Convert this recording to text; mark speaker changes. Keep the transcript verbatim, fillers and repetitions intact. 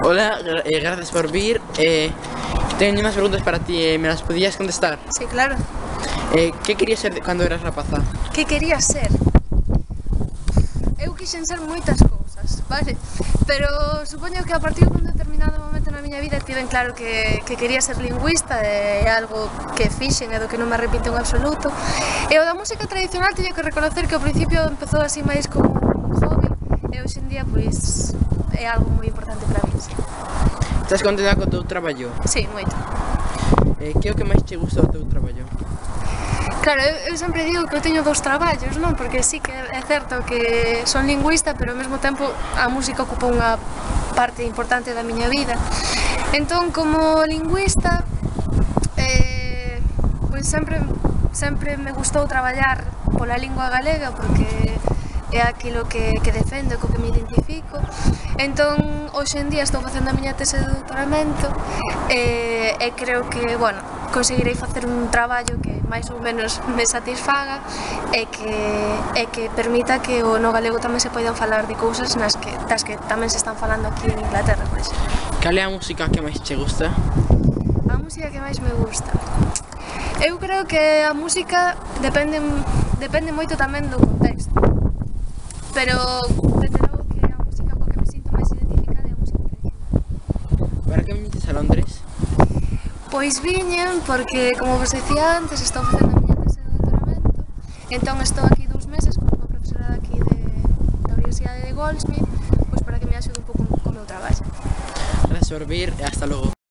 Speaker 1: Hola, eh, gracias por vir. Eh, tengo unas preguntas para ti, eh, ¿me las podías contestar?
Speaker 2: Sí, claro.
Speaker 1: Eh, ¿Qué querías ser cuando eras rapaza?
Speaker 2: Que quería ser? Eu quixen ser moitas cousas, vale? Pero supoño que a partir dun determinado momento na miña vida tiven claro que, que quería ser lingüista, é algo que fixen e do que non me arrepinto en absoluto. E o da música tradicional teño que reconocer que ao principio empezou así máis como un hobby e hoxe en día pois é algo moi importante para mí. Sí.
Speaker 1: Estás contenta co teu traballo?
Speaker 2: Sí, moito.
Speaker 1: Eh, que é o que máis te gusta do teu traballo?
Speaker 2: Claro, eu, eu sempre digo que eu teño dous traballos, non? Porque sí que é certo que son lingüista, pero ao mesmo tempo a música ocupa unha parte importante da miña vida. Entón, como lingüista, eh, pois sempre, sempre me gustou traballar pola lingua galega, porque é aquilo que, que defendo, co que me identifico. Entón, hoxe en día estou facendo a miña tese de doutoramento e, e creo que, bueno, conseguirei facer un traballo que máis ou menos me satisfaga e que, e que permita que o no galego tamén se poidan falar de cousas nas que, das que tamén se están falando aquí en Inglaterra, por exemplo.
Speaker 1: Cal é a música que máis te gusta?
Speaker 2: A música que máis me gusta? Eu creo que a música depende, depende moito tamén do contexto, pero desde logo que a música coa que me sinto máis identificada é a música tradicional.
Speaker 1: Para que viñetes a Londres?
Speaker 2: Pois viñen porque, como vos dicía antes, estou facendo a miña tese de doutoramento, entón estou aquí dous meses con unha profesora aquí de, da Universidade de Goldsmith, pois para que me axude un pouco co meu traballo.
Speaker 1: Gracias por vir e hasta logo.